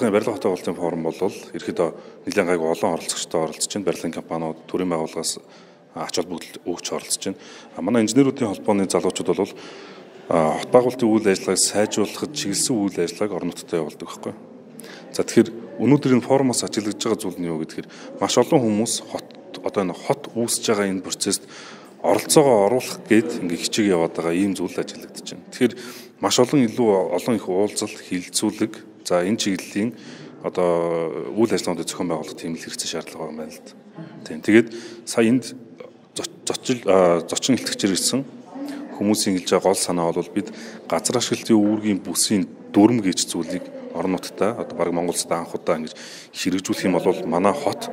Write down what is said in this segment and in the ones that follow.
Хятадын барилга хотын уулзалтын форум бол ерөөдөө нэлээд гайгүй олон оролцогчтой оролцож байна. Барилгын компаниуд, төрийн байгууллагаас ач холбогдол өгч оролцож байна. Манай инженеруудын холбооны залуучууд бол хот байгуулалтын үйл ажиллагааг сайжруулахад чиглэсэн үйл ажиллагааг орон нутгад явуулдаг байхгүй. За тэгэхээр өнөөдрийн форумоос ажиглаж байгаа зүйл нь юу гэхээр маш олон хүмүүс хот үүсэж байгаа энэ процесст оролцоогоо оруулах гээд ингээ хичээг яваад байгаа ийм зүйл ажиглагдаж байна. Тэгэхээр маш олон их уулзалт, хилцүүлэг, за энэ чиглэлийн үйл ажиллагааны зохион байгуулалт тийм л хэрэгцээ шаардлага байгаа юм байна л да. Тийм. Тэгээд сая энд зочин илтгэгчээр ирсэн хүмүүсийн хэлж байгаа гол санаа бол бид газар ашиглалтын үүргийн бүсийн дүрм гэж зүйлийг орон нутгад баг Монгол улсад анх удаа ингэж хэрэгжүүлэх юм бол манай хот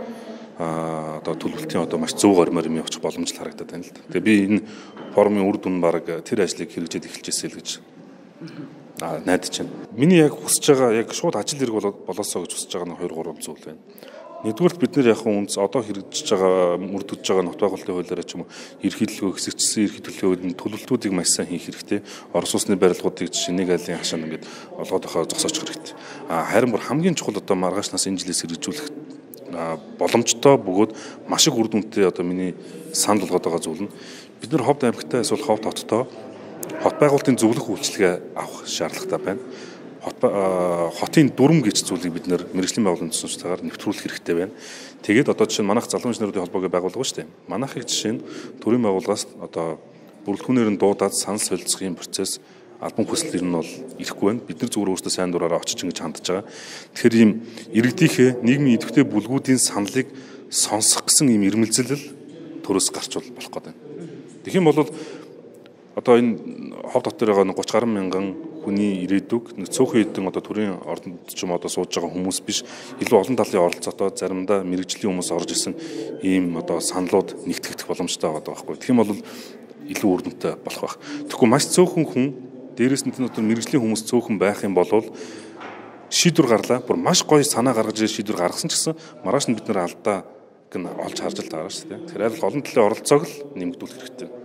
төлөвлөлтийн маш зөв гормоор юм явах боломж л харагдаад байна л да. Тэгээ би энэ форумын үр дүн баг тэр ажлыг хэрэгжээд эхэлчихсэн л гэж найдаж байна. Миний яг хүсэж байгаа яг шууд ажил хэрэг болоосоо гэж хүсэж байгаа нь 2-3 зүйл байна. Нэгдүгээрт бид нэр яг үнс одоо хэрэгжиж байгаа мөрдөж байгаа нот байгуулалтын хуулиараа ч юм уу ерхийлэлгөө хэсэгчсэн ерхийлэлгөөд төлөвлөлтүүдийг маш сайн хийх хэрэгтэй. Орос улсны барилгуудыг жишээ нэг айлын хашаанд ингээд олгоод авах зогсоочих хэрэгтэй. Харин бүр хамгийн чухал маргаашнаас энэ жилээс хэрэгжүүлэх боломжтой бөгөөд маш их үр дүнтэй миний санд болгоод байгаа зүйл нь бид нар Ховд аймагтай эсвэл Ховд хоттой хот байгуулалтын зөвлөх үйлчилгээ авах шаардлагатай байна. Хотын дүрм гэж зүйлийг бид нэр мэргэжлийн байгууллагын төсөвчтэйгээр нэвтрүүлэх хэрэгтэй байна. Тэгээд жишээ нь манайх залуу инженеруудын холбоогийн байгууллага шүү дээ. Манайхыг жишээ нь төрийн байгууллагаас бүрэлдэхүүнээр нь дуудаад санал солилцохын процесс албан хүслээр нь бол ирэхгүй байна. Бид нар зүгээр өөрсдөө сайн дураараа очиж ингэж хандж байгаа. Тэгэхээр ийм иргэдийнхээ нийгмийн идэвхтэй бүлгүүдийн саналыг сонсох гэсэн ийм ирмэлзэл төрөөс гарч болох гэдэг. Тэгэх юм бол энэ Ховд хотод байгаа 30 гаруй мянган хүний ирээдүг цөөхөн хэдэн төрийн ордонд ч юм сууж байгаа хүмүүс биш илүү олон талын оролцоотой заримдаа мэрэгжлийн хүмүүс орж исэн ийм саналууд нэгтгэх боломжтой байгаа байхгүй. Тэгэх юм бол илүү үр дүнтэй болох байх. Тэгэхгүй маш цөөхөн хүн дээрээс нь мэрэгжлийн хүмүүс цөөхөн байх юм бол шийдвэр гарлаа. Бүр маш гоё санаа гаргаж шийдвэр гаргасан ч гэсэн маргааш нь бид нэр алдаа олж харж л байгаа шүү дээ. Тэгэхээр аль олон талын оролцоог л нэмэгдүүлэх хэрэгтэй.